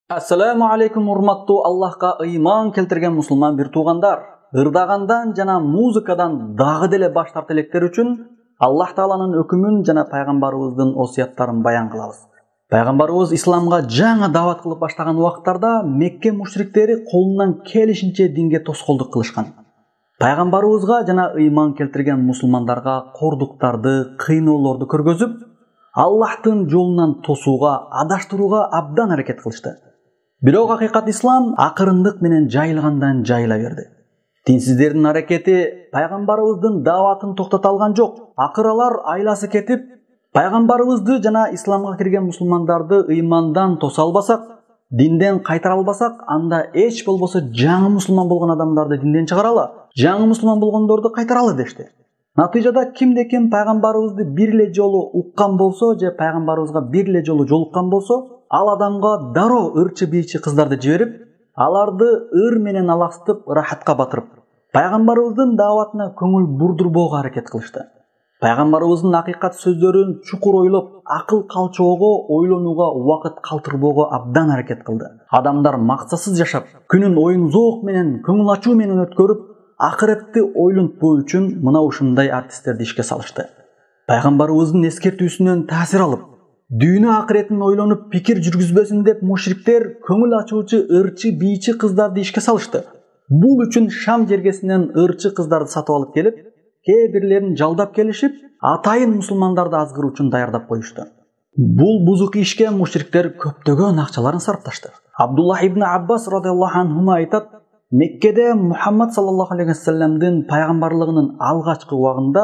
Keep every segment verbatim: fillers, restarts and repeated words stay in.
Ассаламу алейкум, урматтуу Аллахка ыйман келтирген мусулман бир туугандар. Ырдагандан жана музыкадан дагы деле баш тарта электер үчүн Аллах Тааланын өкүмүн жана пайгамбарыбыздын осуяттарын баян кылабыз. Пайгамбарыбыз исламга жаңы даават кылып баштаган убактарда Мекке мушриктери колунан келишинче динге тоскоолдук кылышкан. Пайгамбарыбызга жана ыйман келтирген мусулмандарга кордуктарды, кыйноолорду көргөзүп, Аллахтын жолунан тосууга, адаштырууга абдан аракет кылышты. Бирок акыйкат ислам акырындык менен жайылгандан жайыла берди. Динсиздердин аракети пайгамбарыбыздын дааватын токтото алган жок. Акыры алар айласы кетип, пайгамбарыбызды жана исламга кирген мусулмандарды ыймандан тоса албасак, динден кайтара албасак, анда эч болбосо жаңы мусулман болгон адамдарды динден чыгаралы, жаңы мусулман болгондорду кайтаралы дешти. Натыйжада кимде ким пайгамбарыбызды бир эле жолу уккан болсо же пайгамбарыбызга бир эле жолу жолуккан болсо, ал адамга дароо ырчы бийчи кыздарды жиберип, аларды ыр менен аластып, рахатка батырып, пайгамбарыбыздын дааватына көңүл бурдурбоого аракет кылышты. Пайгамбарыбыздын акыйкат сөздөрүн чукур ойлоп, акыл калчоого, ойлонууга убакыт калтырбоого абдан аракет кылды. Адамдар максатсыз жашап, күнүн оюн зоок менен, көңүл ачуу менен өткөрүп, акыретти ойлонтпоо үчүн мына ушундай артисттерди ишке салышты. Пайгамбарыбыздын эскертүүсүнөн таасир алып, дүйнө акыретин ойлонуп пикир жүргүзбөсүн деп мушриктер көңүл ачуучу ырчы бийчи кыздарды ишке салышты. Бул үчүн Шам жергесинен ырчы кыздарды сатып алып келип, кээ бирлерин жалдап келишип, атайын мусулмандарды азгыруу үчүн даярдап коюшту. Бул бузук ишке мушриктер көптөгөн акчаларын сарпташты. Абдуллах ибн Аббас радыйаллаху анху айтат, Меккеде Мухаммад саллаллаху алейхи вассаламдын пайгамбарлыгынын алгачкы убагында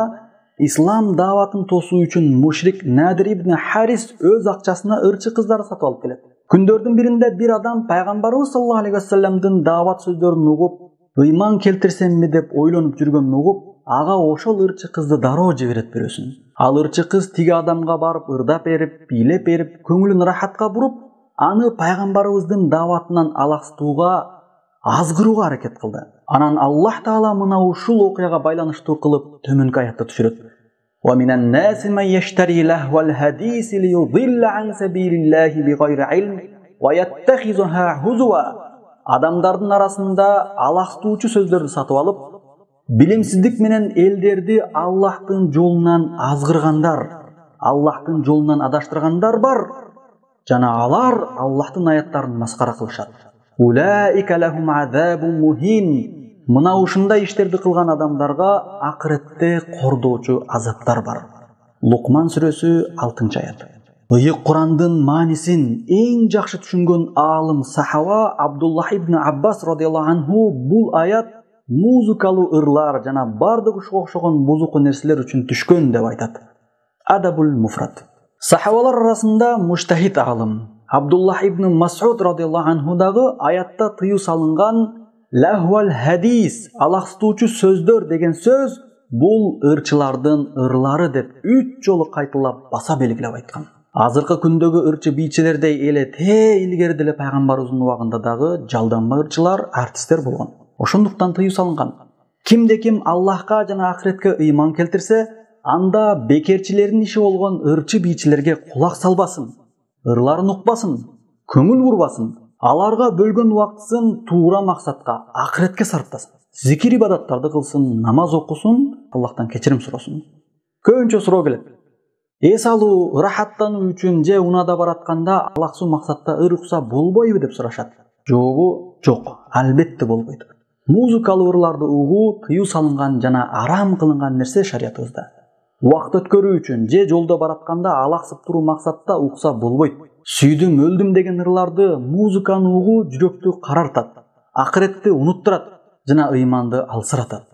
ислам дааватын тосуу үчүн мушрик Надир ибн Харис өз акчасына ырчы кыздарды сатып алып келет. Күндөрдүн биринде бир адам пайгамбарыбыз саллаллаху алейхи вассаламдын даават сөздөрүн угуп, ыйман келтирсемби деп ойлонуп жүргөнүн угуп, ага ошол ырчы кызды дароо жиберет бирөөсүн. Ал ырчы кыз тиги адамга барып ырдап берип, бийлеп берип, көңүлүн рахатка буруп, аны пайгамбарыбыздын дааватынан аластууга, азгырууга аракет кылды. Анан Аллах Таала мына ушул окуяга байланыштуу кылып төмөнкү аятты түшүрөт. Wa minan nasi man yashtari lahwal hadisi liyudilla an sabilillahi bighayri ilm wa yattakhizuha huzwa. Адамдардын арасында аластуучу сөздөрдү сатып алып, билимсиздик менен элдерди Аллахтын жолунан азгыргандар, Аллахтын жолунан адаштыргандар бар. Жана алар Аллахтын аяттарын маскара кылышат. Улаика лахум азабун мухин. Мына ушундай иштерди кылган адамдарга акыретте кордоочу азаптар бар. Лукман сүрөсү алтынчы аят. Ыйык Курандын маанисин эң жакшы түшүнгөн аалым сахаба Абдуллах ибн Аббас радыйаллаху анху бул аят музыкалуу ырлар жана бардык ушуга окшогон бузуку нерселер үчүн түшкөн деп айтат. Адабул муфрат. Сахабалар арасында муштахид аалым Абдуллах ибн Мас'уд радыйаллаху анху дагы аятта тыюу салынган лахвал хадис, аластуучу сөздөр деген сөз бул ырчылардын ырлары деп үч жолу кайталап баса белгилеп айткан. Азыркы күндөгү ырчы бийчилердей эле те илгери деле пайгамбарыбыздын убагында дагы жалданма ырчылар, артисттер болгон. Ошондуктан тыюу салынган. Кимде ким Аллахка жана акыретке ыйман келтирсе, анда бекерчилердин иши болгон ырчы бийчилерге кулак салбасын, ырларын укпасын, көңүл бурбасын, аларга бөлгөн убактысын туура максатка, акыретке сарптасын. Зикир ибадаттарды кылсын, намаз окусун, Аллахтан кечирим суросун. Көбүнчө суроо келет. Эс алуу, рахаттануу үчүн же унада баратканда алаксуу максатта ыр укса болбойбу деп сурашат. Жообу жок, албетте болбойт. Музыкалуу ырларды угуу тыюу салынган жана арам кылынган нерсе шариятыбызда. Убакыт өткөрүү үчүн же жолдо баратканда алаксып туруу максатта укса болбойт. Сүйдүм, өлдүм деген ырларды, музыканы угуу жүрөктү карартат, акыретти унуттурат жана ыйманды алсыратат.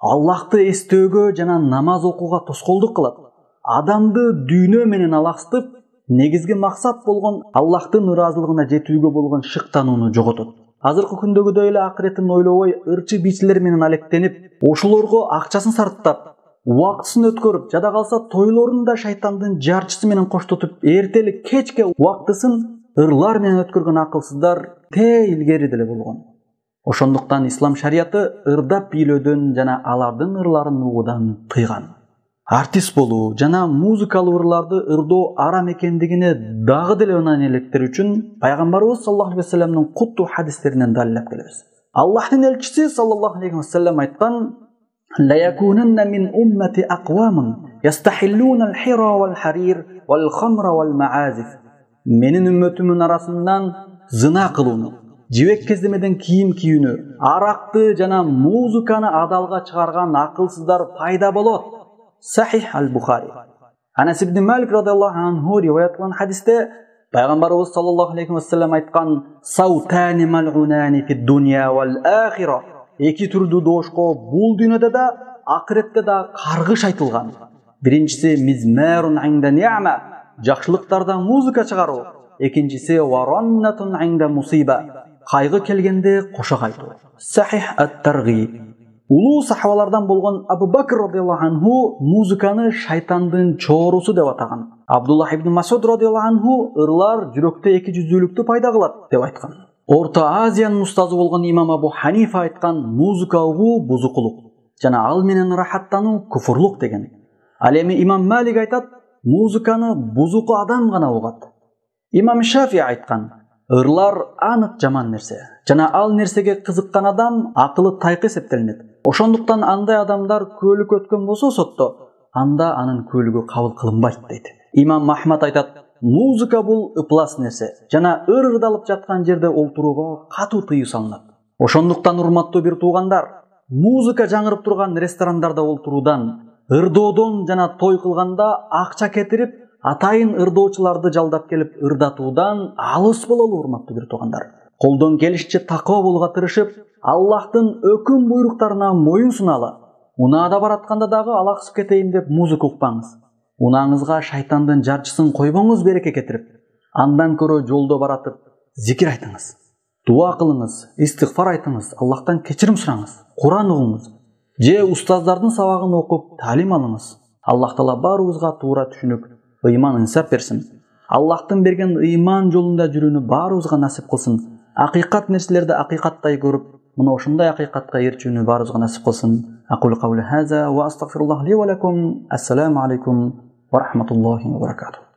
Аллахты эстөөгө жана намаз окууга тоскоолдук кылат. Адамды дүйнө менен аластып, негизги максат болгон Аллахтын ыраазылыгына жетүүгө болгон шыктанууну жоготот. Азыркы күндөгүдөй эле акыретин ойлобой, ырчы бийчилер менен алектенип, ошолорго акчасын сарптап, убактысын өткөрүп, жада калса тойлорун да шайтандын жарчысы менен коштотуп, эртели кечке убактысын ырлар менен өткөргөн акылсыздар те илгери деле болгон. Ошондуктан ислам шарияты ырдап бийлөөдөн жана алардын ырларын угуудан тыйган. артист болуу жана музыкалуу ырларды ырдоо арам экендигине дагы деле ынан электер үчүн пайгамбарыбыз саллаллаху алейхи вассаламдын куттуу хадистеринен далилдеп келебиз. Аллахтын элчиси саллаллаху алейхи вассалам айткан: "Ла якунанна мин уммати aqwamun yastahilluna al-hira wal-harir wal-khamra wal-ma'azif." Менин үммөтүмдүн арасынан зына кылууну, жибек кездемеден кийим кийүүнү, аракты жана музыканы адалга чыгарган акылсыздар пайда болот. Сахих аль-Бухари. Анас ибн Малик радиаллаху анху риваят кылган хадисте пайгамбарыбыз саллаллаху алейхи вассалам айткан: "Саутани мал'унани фид-дунья вал-ахира." Эки түрдүү доошко бул дүйнөдө да, акыретте да каргыш айтылган. Биринчиси мизмарун инда ни'ма, жакшылыктарда музыка чыгаруу. Экинчиси вараннатун инда мусиба, кайгы келгенде кошок айтуу. Сахих ат-Таргиб. Улуу сахабалардан болгон Абу Бакр радиаллаху анху музыканы шайтандын чоорусу деп атаган. Абдуллах ибн Масуд радиаллаху анху ырлар жүрөктө эки жүздүүлүктү пайда кылат деп айткан. Орто Азиянын устазы болгон имам Абу Ханифа айткан: музыка угуу бузукулук жана ал менен рахаттануу куфурлук деген. Ал эми имам Малик айтат: музыканы бузуку адам гана угат. Имам Шафи айткан: ырлар анык жаман нерсе жана ал нерсеге кызыккан адам акылы тайкы эсептелинет. Ошондуктан андай адамдар көөлүк өткөн болсо сотто, анда анын көөлүгү кабыл кылынбайт дейт. Имам Ахмад айтат: музыка бул ыплас нерсе жана ыр ырдалып жаткан жерде олтурууга катуу тыюу салынат. Ошондуктан урматтуу бир туугандар, музыка жаңырып турган ресторандарда олтуруудан, ырдоодон жана той кылганда акча кетирип, атайын ырдоочуларды жалдап келип ырдатуудан алыс бололу урматтуу бир туугандар. Колдон келишинче такыба болууга тырышып, Аллахтын өкүм буйруктарына моюн суналы. Унаада баратканда дагы алаксып кетейин деп музыка укпаңыз. Унааңызга шайтандын жарчысын койбоңуз береке кетирип, андан көрө жолдо баратып зикир айтыңыз. Дуа кылыңыз, истигфар айтыңыз, Аллахтан кечирим сураңыз, Куран угуңуз, же устаздардын сабагын окуп талим алыңыз. Аллах таала баарыбызга туура түшүнүк, ыйман инсап берсин. Аллахтын берген ыйман жолунда жүрүүнү баарыбызга насип кылсын. Акыйкат нерселерди акыйкаттай көрүп, мына ошондой акыйкатка эрчүүнү баарыбызга насип кылсын. Aqulu qawli hadha wa astaghfirullah li wa lakum. Assalamu alaykum wa rahmatullahi wa barakatuh.